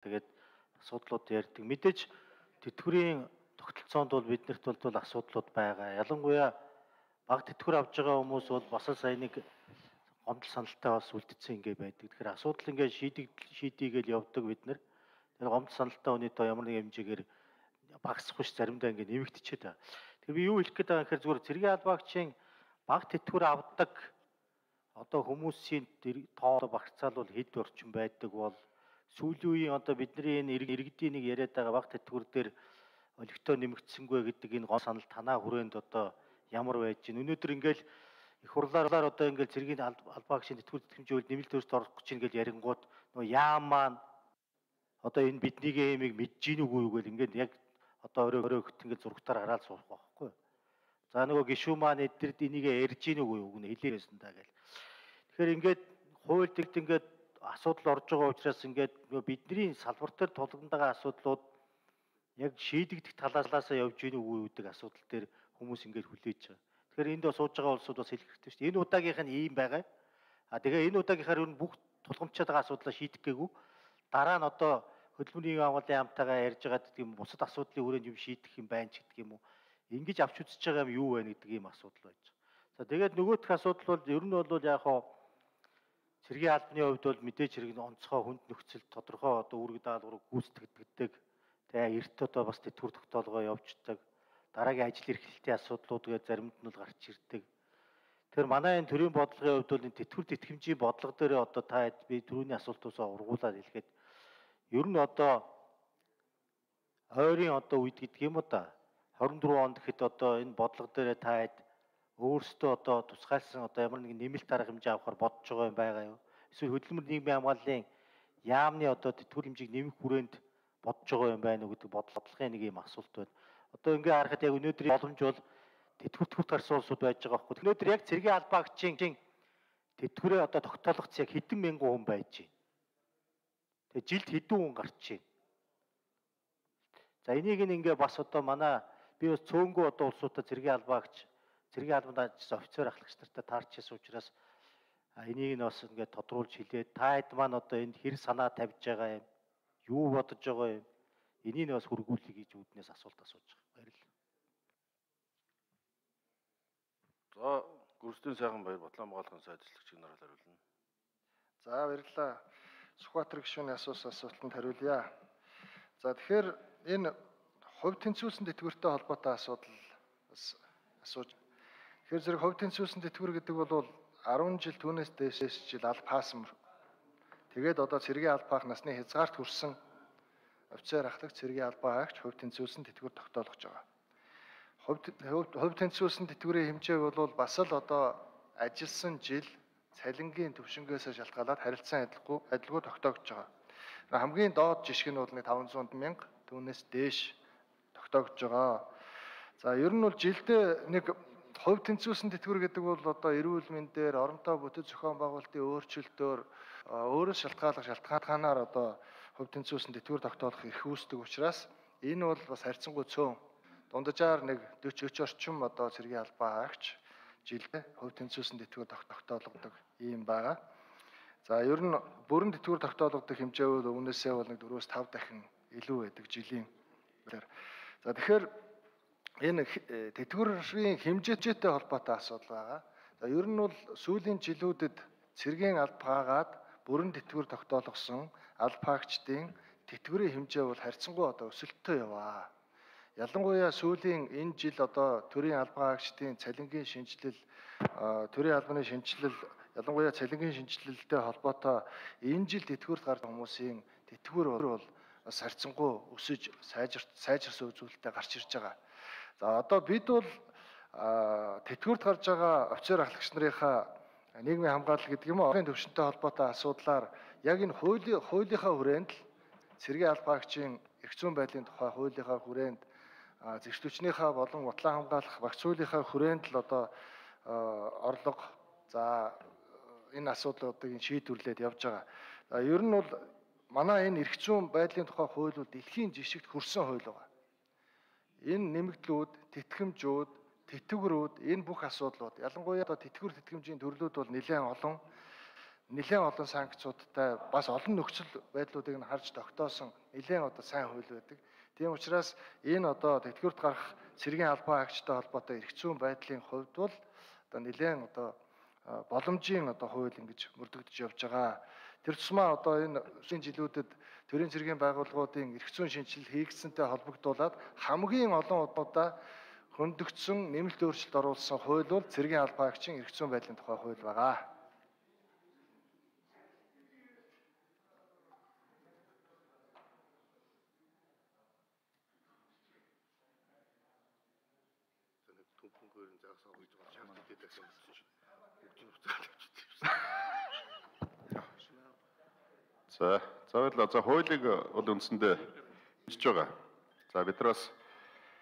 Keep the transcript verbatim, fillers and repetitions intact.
Тэгээд асуудлууд ярьдаг. Мэдээж тэтгэврийн тогтолцоонд бол биднэрт бол асуудлууд байгаа. Ялангуяа бага тэтгэвэр авж байгаа хүмүүс бол бас сая нэг гомдол саналтай бас үлдсэн ингээ байдаг. Тэгэхээр асуудал ингээ шийдэг шийдийгээл явдаг бид нар. Тэр гомдол саналтай өнөөдөр ямар нэг хэмжээгээр багасахгүй ш заримдаа ингээ нэмэгдчихэд байна. Тэгэхээр би юу хэлэх гээд байгаа гэхээр зүгээр цэргийн албаагчийн бага тэтгэвэр авдаг одоо хүмүүсийн тоо багцаал бол хэд орчим байдаг бол сүүлийн үеийн одоо бидний энэ иргэдийн нэг яриад байгаа бага тэтгэвэр дээр олигтой нэмэгдсэнгүй гэдэг энэ гол санал танаа хүрээнд одоо ямар байж гин өнөөдөр ингээл их хурлаар одоо ингээл цэргийн албаагчийн тэтгэвэр тэтгэмжийн үйл нэмэлт төрөлд орох гэж ингээл ярингууд нөгөө яам маань одоо энэ биднийг эмийг мэдж гин үгүй юу гэл ингээд яг одоо өрөө өрөө хөт ингээд зургатаар хараад суух байхгүй. За нөгөө гишүүн маань эдгэрд энийг ярьж гин үгүй юу гэнэ хэлээрсэн даа гэл. Тэгэхээр ингээд хууль тэгт ингээд асуудал орж байгаа учраас ингээд бидний салбар дээр тулганд байгаа асуудлууд яг шийдэгдэх талаасаа явж гин үгүй юу гэдэг асуудал дээр хүмүүс ингээд хүлээж байгаа. Тэгэхээр энд сууж байгаа улсууд бас хэлэх хэрэгтэй шүү дээ. Энэ удаагийнх нь ийм байгаа. А тэгээ энэ удаагийнхаар ер нь бүх тулгамчаад байгаа асуудлаа шийдэх гээгүй. Дараа нь одоо хөдөлмөрийн агуулгын яамтайгаа ярьж байгаа гэдэг юм бусад асуудлын хүрээнд юм шийдэх юм байна ч гэдэг юм уу. Ингэж авч үзэж байгаа юм юу байна гэдэг ийм асуудал байж байгаа. За тэгээд нөгөөх асуудал бол ер нь бол яг хаа цэргийн албаны хувьд бол мэдээж хэрэг онцгой хүнд нөхцөл тодорхой одоо үүрэг даалгаврыг гүйцэтгэдэг. Тэгээ эрт одоо бас тэтгэвэр тогтоолгоо явуулдаг. Дараагийн ажил эрхлэлтийн асуудлууд гээд заримд нь бол гарч ирдэг. Тэгэхээр манай энэ төрийн бодлогын хувьд бол энэ тэтгэвэр тэтгэмжийн бодлого дээр одоо та би түрүүний асуултуусаа ургуулад хэлэхэд ер нь одоо ойрын одоо үед гэдэг юм уу да хорин дөрвөн онд гэхэд одоо энэ бодлого дээр та хэд өөрсдөө одоо тусгайлсан одоо ямар нэгэн нэмэлт арга хэмжээ авахар бодож байгаа юм байгаа юу? Эсвэл хөдөлмөр нийгмийн хамгааллын яамны одоо тэтгэвэр хэмжээг нэмэх хүрээнд бодож байгаа юм байна уу гэдэг бодлогын нэг юм асуулт байна. Одоо ингээ харахад яг өнөөдрийн боломж бол тэтгэвэр төвт гарсан улсууд байж байгаа байхгүй. Өнөөдөр яг цэргийн албаагчийн тэтгэврээ одоо тогтоолгоц яг хэдэн мянган хүн байж байна. Тэгээ жилд хэдэн хүн гарч байна. За энийг ингээ бас одоо манай би бас цөөнгөө одоо улсуудаа цэргийн албаагч цэргийн албанд ажилласан офицер ахлагч нартай таарч ирсэн учраас энийг нь бас ингээ тодруулж хэлээд та хэд маань одоо энд хэр санаа тавьж байгаа юм юу бодож байгаа юм энийг нь бас хөргүүлэх гэж үүднээс асуулт асууж байгаа. Баярлалаа. За гүрсдийн сайхан баяр Батланбаалгын сайд ажиллагчийн нараал хариулна. За баярлалаа. Сүхбаатар гишүүний асуусан асуултанд хариулъя. За тэгэхээр энэ хувь тэнцвүүлсэн тэтгэвэртэй холбоотой асуудал бас асууж. Тэгэхээр зэрэг хувь тэнцвүүлсэн тэтгэвэр гэдэг бол арван жил түүнээс дээшээс жил алба хаасан. Тэгээд одоо цэргийн албаах насны хязгаарт хүрсэн офицер ахлагч цэргийн албаагч хувь тэнцвүүлсэн тэтгэвэр тогтоолгож байгаа. Хувь тэнцвүүлсэн тэтгэврийн хэмжээ бол бас л одоо ажилласан жил цалингийн төвшингээс шалтгаалаад харилцан адилгүй адилгүй тогтоогдож байгаа. Хамгийн доод жишг нь бол нэг таван зуун мянга түүнээс дээш тогтоогдож байгаа. За ер нь бол жилдээ нэг хувь тэнцвүүлсэн тэтгэвэр гэдэг бол одоо эрүүл мэндээр оронтой бүтэц зохион байгуулалтын өөрчлөлтөөр өөрөөс шалтгаалах шалтгаанаар одоо хувь тэнцвүүлсэн тэтгэвэр тогтоолох эрх үүсдэг учраас энэ бол бас харьцангуй цөөн дунджаар нэг дөрвөн орчим одоо цэргийн албаагч жилдээ хувь тэнцвүүлсэн тэтгэвэр тогтоологдог юм байгаа. За ер нь бүрэн тэтгэвэр тогтоологдог хэмжээ бол өмнөөсөө бол нэг дөрвөөс тав дахин илүү байдаг жилийн. За тэгэхээр энэ тэтгэврийн хэмжээтэй холбоотой асуудал байгаа. За ер нь бол сүүлийн жилүүдэд цэргийн албаагаад бүрэн тэтгэвэр тогтоологсон албаагчдын тэтгэврийн хэмжээ бол харьцангуй одоо өсөлттэй яваа. Ялангуяа сүүлийн энэ жил одоо төрийн албаагчдын цалингийн шинжилэл төрийн албаны шинжилэл ялангуяа цалингийн шинжилэлтэй холбоотой энэ жил тэтгэврт гарсан хүмүүсийн тэтгэвэр бол бас харьцангуй өсөж сайжирт сайжирсан үзүүлэлттэй гарч ирж байгаа. За одоо бид бол тэтгэврт гарч байгаа офицер ахлагч нарынхаа нийгмийн хамгаалал гэдэг юм уу орон төвшөнтэй холбоотой асуудлаар яг энэ хуулийн хуулийнхаа хүрээнд л цэргийн албаагчийн эрх зүйн байдлын тухай хуулийнхаа хүрээнд зэгцлүүчнийхээ болон утлаа хамгаалах багц хуулийнхаа хүрээнд л одоо орлого за энэ асуудлуудыг шийдвэрлээд явж байгаа. Ер нь бол манай энэ эрх зүйн байдлын тухай хууль бол дэлхийн жишгт хүрсэн хууль байна. Энэ нэмэгдлүүд, тэтгэмжүүд, тэтгэврүүд энэ бүх асуудлууд ялангуяа одоо тэтгэвэр тэтгэмжийн төрлүүд бол нэлээд олон. нэлээд олон санкцуудтай бас олон нөхцөл байдлуудыг нь харж тогтоосон нэлээд одоо сайн хууль байдаг. Тийм учраас энэ одоо тэтгэврт гарах цэргийн албан хаагчтай холбоотой эрх зүйн байдлын хувьд бол одоо нэлээд одоо боломжийн одоо хууль ингэж мөрдөгдөж явж байгаа. Тэр тусмаа одоо энэ шинэ жилүүдэд төрийн цэргийн байгууллагуудын эрх зүйн шинжилэл хийгдсэнтэй холбогдуулаад хамгийн олон удаа хөндөгдсөн нэмэлт өөрчлөлт оруулсан хууль бол цэргийн албан хаагчийн эрх зүйн байдлын тухай хууль байгаа. За, за баярлалаа. За хуулийг бол үндсэндээ бичиж байгаа. За биднээс